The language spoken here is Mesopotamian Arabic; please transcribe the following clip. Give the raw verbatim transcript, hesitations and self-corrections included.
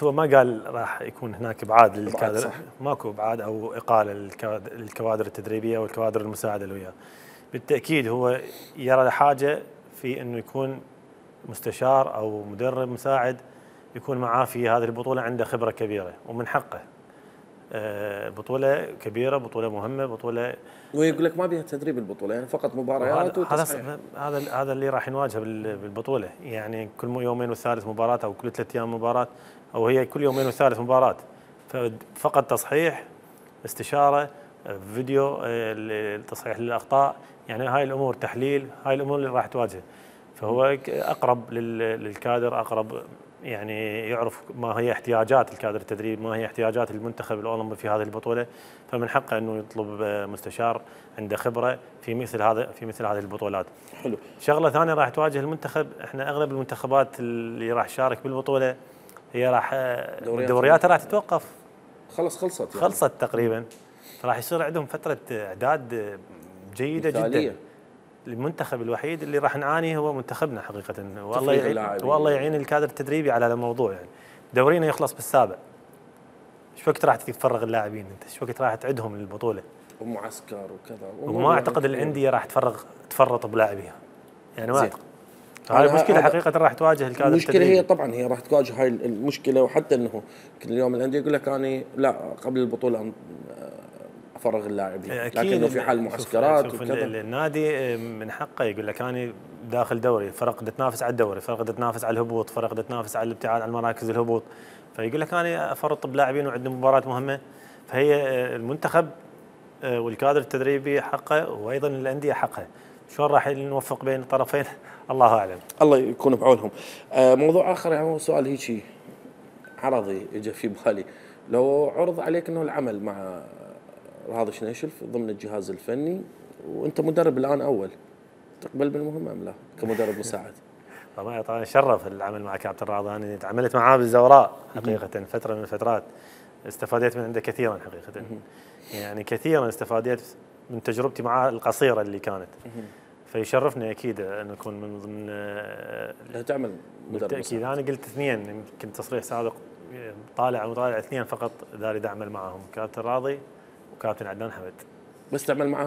هو ما قال راح يكون هناك ابعاد للكادر، صح. ماكو ابعاد او اقاله للكوادر التدريبيه والكوادر المساعده اللي وياه. بالتاكيد هو يرى حاجه في انه يكون مستشار او مدرب مساعد يكون معاه في هذه البطوله، عنده خبره كبيره ومن حقه. بطوله كبيره، بطوله مهمه، بطوله ويقول لك ما بيها تدريب البطوله، يعني فقط مباريات وتصحيح. هذا هذا هذا اللي راح نواجهه بالبطوله، يعني كل يومين وثالث مباراه او كل ثلاث ايام مباراه، او هي كل يومين وثالث مباراه. فقط تصحيح، استشاره، فيديو، تصحيح للاخطاء، يعني هاي الامور تحليل، هاي الامور اللي راح تواجهه. فهو اقرب للكادر، اقرب يعني يعرف ما هي احتياجات الكادر التدريب، ما هي احتياجات المنتخب الاولمبي في هذه البطوله، فمن حقه انه يطلب مستشار عنده خبره في مثل هذا في مثل هذه البطولات. حلو. شغله ثانيه راح تواجه المنتخب، احنا اغلب المنتخبات اللي راح تشارك بالبطوله هي راح دورياتها راح تتوقف، خلص خلصت يعني. خلصت تقريبا، فراح يصير عندهم فتره اعداد جيده مثالية. جدا. المنتخب الوحيد اللي راح نعاني هو منتخبنا حقيقه، والله يعين والله يعين الكادر التدريبي على الموضوع. يعني دورينا يخلص بالسابع، ايش وقت راح تفرغ اللاعبين انت؟ ايش وقت راح تعدهم للبطوله؟ ومعسكر وكذا، وما اعتقد الانديه راح تفرغ تفرط بلاعبيها، يعني ما اعتقد. هاي المشكله حقيقه راح تواجه الكادر المشكله التدريبي. هي طبعا هي راح تواجه هاي المشكله، وحتى انه كل يوم الانديه يقول لك انا لا قبل البطوله افرغ اللاعبين، لكنه في حال معسكرات وكذا. النادي من حقه يقول لك انا داخل دوري، فرق تنافس على الدوري، فرق تنافس على الهبوط، فرق تنافس على الابتعاد عن مراكز الهبوط، فيقول لك انا افرط بلاعبين وعندنا مباراه مهمه. فهي المنتخب والكادر التدريبي حقه، وايضا الانديه حقها. شلون راح نوفق بين الطرفين الله اعلم. الله يكون بعونهم. موضوع اخر يعني سؤال هيك عرضي اجى في بالي، لو عرض عليك انه العمل مع هذا شنيشلف ضمن الجهاز الفني وانت مدرب الان اول، تقبل بالمهمه ام لا كمدرب مساعد؟ طبعا طبعا شرف العمل مع كابتن راضي، انا تعاملت معاه بالزوراء حقيقه فتره من الفترات، استفادت من عنده كثيرا حقيقه، يعني كثيرا استفادت من تجربتي معاه القصيره اللي كانت. فيشرفني اكيد ان اكون من ضمن لا تعمل مدرب بالتاكيد. انا قلت اثنين، يمكن تصريح سابق طالع وطالع اثنين فقط داري اعمل معهم، كابتن راضي وكابتن عدنان حمد. بس تعمل معهم